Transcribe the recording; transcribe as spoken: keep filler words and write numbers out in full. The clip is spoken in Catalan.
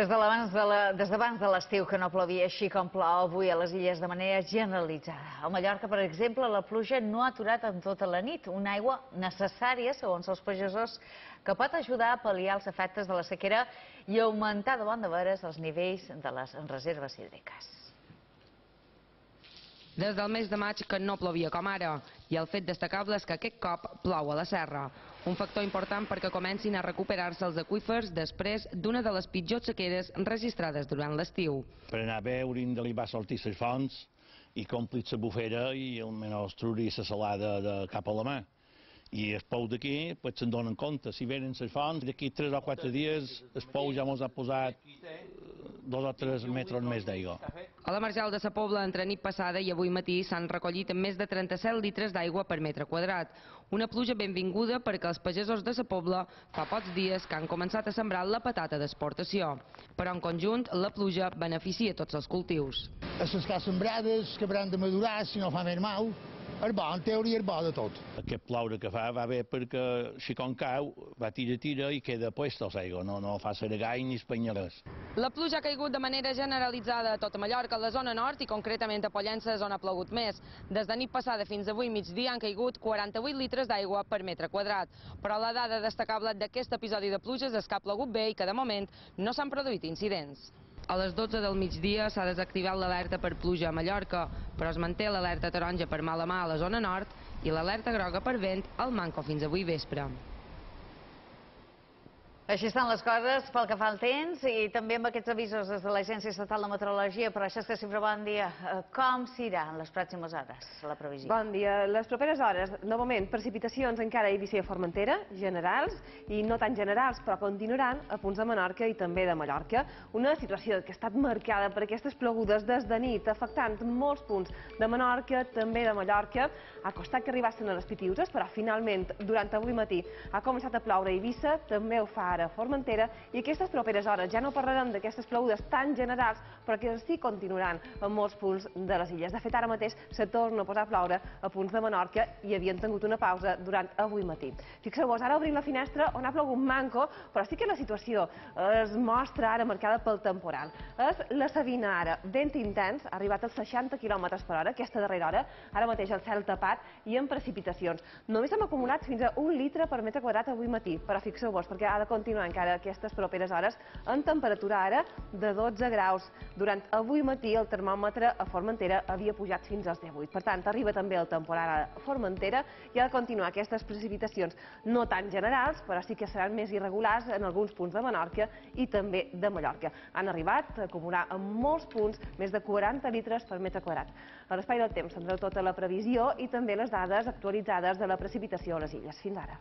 Des d'abans de la, des d'abans de l'estiu que no plovia així com plou avui a les illes de manera generalitzada. A Mallorca, per exemple, la pluja no ha aturat en tota la nit. Una aigua necessària, segons els pagesos, que pot ajudar a pal·liar els efectes de la sequera i augmentar de bon de veres els nivells de les reserves hídriques. Des del mes de maig que no plovia com ara, i el fet destacable és que aquest cop plou a la serra. Un factor important perquè comencin a recuperar-se els aqüífers després d'una de les pitjors sequeres registrades durant l'estiu. Per anar bé hauríem de li va sortir les fonts i complir la bufera i almenys treure la salada de cap a la mà. I el pou d'aquí pues, se'n donen compte. Si venen les fonts, d'aquí tres o quatre dies el pou ja ens ha posat dos o tres metres més d'aigua. A la Marjal de sa Pobla, entre nit passada i avui matí, s'han recollit més de trenta-set litres d'aigua per metre quadrat. Una pluja benvinguda perquè els pagesos de sa Pobla fa pocs dies que han començat a sembrar la patata d'exportació. Però en conjunt, la pluja beneficia tots els cultius. A les que sembrades, que hauran de madurar, si no fa més mal, és bo, en teoria és bo de tot. Aquest ploure que fa va bé perquè si com cau, va tira tira i queda puesta l'aigua, no, no fa seregai ni espanyolers. La pluja ha caigut de manera generalitzada a tota Mallorca, a la zona nord i concretament a Pollença, on ha plogut més. Des de nit passada fins avui migdia han caigut quaranta-vuit litres d'aigua per metre quadrat. Però la dada destacable d'aquest episodi de pluges és que ha plogut bé i que de moment no s'han produït incidents. A les dotze del migdia s'ha desactivat l'alerta per pluja a Mallorca, però es manté l'alerta taronja per mala mà a la zona nord i l'alerta groga per vent al manco fins avui vespre. Així estan les coses pel que fa al temps i també amb aquests avisos des de l'Agència Estatal de Meteorologia. Però això és que sempre bon dia. Com s'irà en les pròximes hores, la previsió? Bon dia. Les properes hores, novament, precipitacions encara a Eivissa i a Formentera, generals, i no tan generals, però continuaran a punts de Menorca i també de Mallorca. Una situació que ha estat marcada per aquestes plogudes des de nit, afectant molts punts de Menorca, també de Mallorca. Ha costat que arribassin a les Pitiüses, però finalment, durant avui matí, ha començat a ploure a Eivissa, també ho fa a Formentera, i aquestes properes hores ja no parlarem d'aquestes plogudes tan generals, però que sí continuaran en molts punts de les illes. De fet, ara mateix se torna a posar a ploure a punts de Menorca i havien tingut una pausa durant avui matí. Fixeu-vos, ara obrim la finestra on ha plogut manco, però sí que la situació es mostra ara marcada pel temporal. És la Sabina ara, vent intens, ha arribat als seixanta quilòmetres per hora, aquesta darrera hora, ara mateix el cel tapat i amb precipitacions. Només hem acumulat fins a un litre per metre quadrat avui matí, però fixeu-vos, perquè ha de continuar encara aquestes properes hores en temperatura ara de dotze graus. Durant avui matí el termòmetre a Formentera havia pujat fins als divuit. Per tant, arriba també el temporal a Formentera i ha de continuar aquestes precipitacions no tan generals, però sí que seran més irregulars en alguns punts de Menorca i també de Mallorca. Han arribat a acumular en molts punts més de quaranta litres per metre quadrat. A l'Espai del Temps tindreu tota la previsió i també les dades actualitzades de la precipitació a les illes. Fins ara.